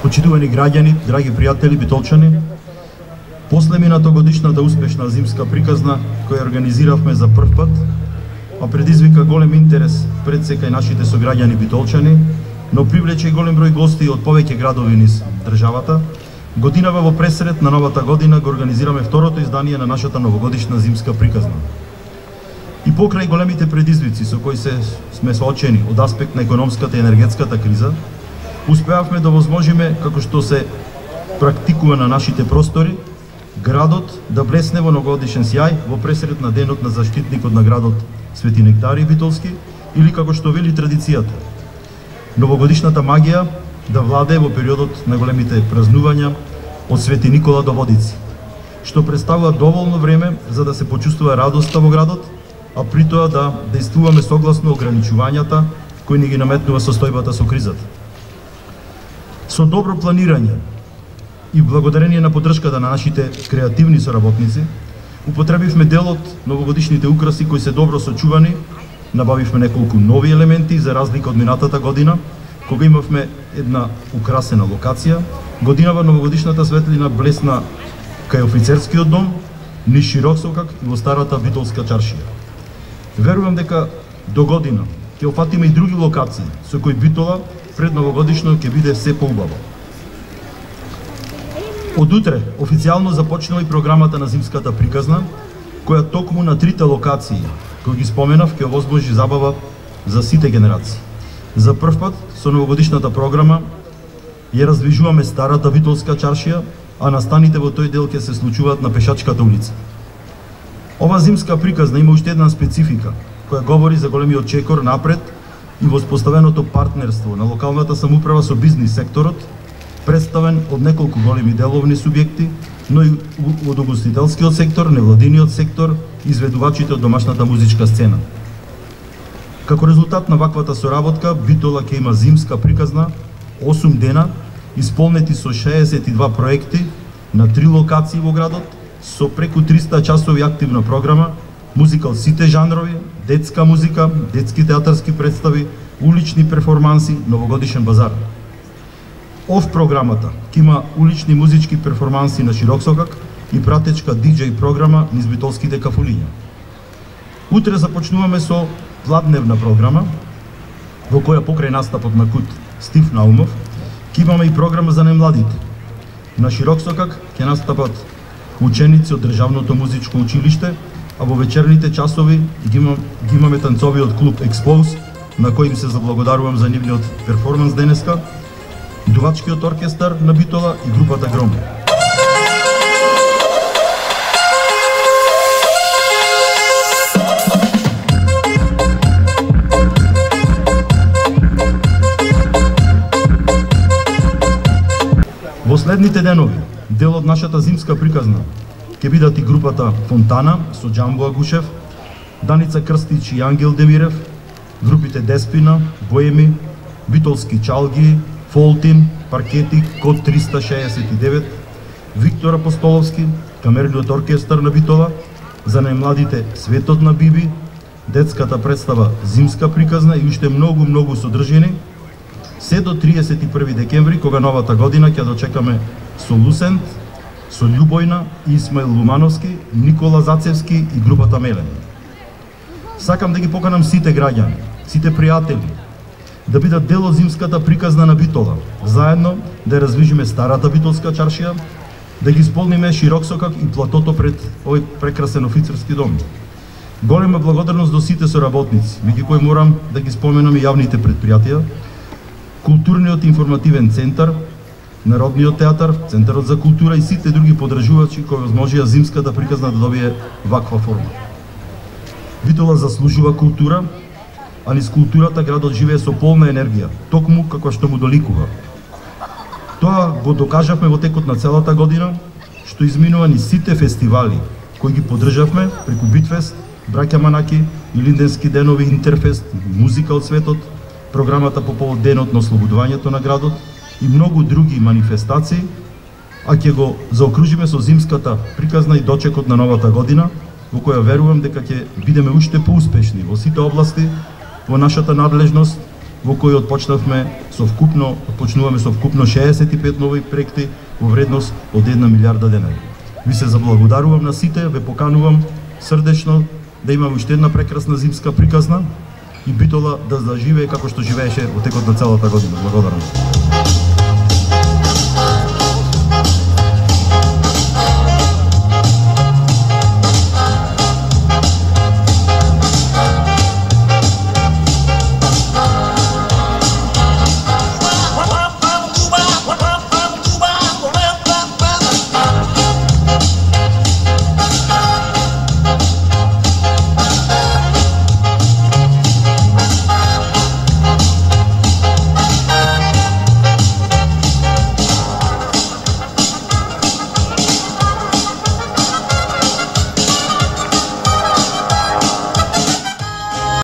Почитувани граѓани, драги пријатели битолчани, после минатогодишната успешна зимска приказна која организиравме за прв пат, а предизвика голем интерес пред се кај нашите сограѓани битолчани, но привлече и голем број гости од повеќе градови низ државата, годинава во пресред на новата година го организираме второто издание на нашата новогодишна зимска приказна. И покрај големите предизвици со кои сме соочени од аспект на економската и енергетската криза, успеавме да возможиме, како што се практикува на нашите простори, градот да блесне во новогодишен сјај во пресред на денот на заштитникот на градот Свети Нектарий Битолски, или како што вели традицијата, новогодишната магија да владее во периодот на големите празнувања од Свети Никола до Водици, што представува доволно време за да се почувствува радоста во градот, а при тоа да действуваме согласно ограничувањата кои ни ги наметнува состојбата со кризата. Со добро планирање и благодарение на поддршката на нашите креативни соработници, употребивме дел од новогодишните украси кои се добро сочувани, набавивме неколку нови елементи за разлика од минатата година, кога имавме една украсена локација. Годинава новогодишната светлина блесна кај офицерскиот дом, низ Широксокак и во старата Битолска чаршија. Верувам дека до година ќе опфатиме и други локации со кои Битола пред новогодишно ќе биде се поубаво. Од утре официјално започнува и програмата на зимската приказна, која токму на трите локации кои ги споменав ќе овозможи забава за сите генерации. За прв пат со новогодишната програма ја раздвижуваме старата Битолска чаршија, а настаните во тој дел ќе се случуваат на Пешачката улица. Ова зимска приказна има уште една специфика, која говори за големиот чекор напред и воспоставеното партнерство на локалната самоуправа со бизнис секторот, представен од неколку големи деловни субјекти, но и од угостителскиот сектор, невладиниот сектор и изведувачите од домашната музичка сцена. Како резултат на ваквата соработка, Битола ќе има зимска приказна 8 дена, исполнети со 62 проекти на 3 локации во градот, со преку 300 часови активна програма, музика од сите жанрови, детска музика, детски театарски представи, улични перформанси, новогодишен базар. Ов програмата ќе има улични музички перформанси на Широксокак и пратечка диџеј програма низ битолските кафулиња. Утре започнуваме со пладневна програма, во која покрај настапот на Кут Стив Наумов, ќе имаме и програма за најмладите. На Широксокак ќе настапат ученици од Државното музичко училиште, а во вечерните часови ги имаме танцови од клуб Експоуз, на кој им се заблагодарувам за нивниот перформанс денеска, дувачкиот оркестар на Битола и групата Гром. Во следните денови, дел од нашата зимска приказна, ќе бидат и групата Фонтана со Џамбо Агушев, Даница Крстич и Ангел Демирев, групите Деспина, Боеми, Битолски чалги, Фолтин, Паркети, Код 369, Виктор Апостоловски, камерниот оркестар на Битола, за најмладите Светот на Биби, детската представа Зимска приказна и уште многу содржини, се до 31 декември, кога новата година ќе дочекаме со Лусент, со Љубојна, Исмаил Лумановски, Никола Зацевски и групата Мелен. Сакам да ги поканам сите граѓани, сите пријатели, да бидат дел од зимската приказна на Битола, заедно да развижиме старата Битолска чаршија, да ги исполниме Широксокак и платото пред овој прекрасен офицерски дом. Голема благодарност до сите соработници, меѓу кои морам да ги споменам и јавните предпријатија, Културниот информативен центар, Народниот театар, Центарот за култура и сите други подржувачи кои возможија зимската приказна да добие ваква форма. Битола заслужува култура, а низ културата градот живее со полна енергија, токму како што му доликува. Тоа го докажавме во текот на целата година, што изминува ни сите фестивали кои ги поддржавме преку Битфест, Браќа Манаки, Илинденски денови, Интерфест, Музика од светот, програмата по повод денот на ослободувањето на градот и многу други манифестации, а ќе го заокружиме со зимската приказна и дочекот на новата година, во која верувам дека ќе бидеме уште поуспешни во сите области во нашата надлежност во кој почнуваме со вкупно 65 нови проекти во вредност од 1 милиарда денари. Ви се заблагодарувам на сите, ве поканувам срдечно да имаме уште една прекрасна зимска приказна и Битола да заживее како што живееше во текот на целата година. Благодарам.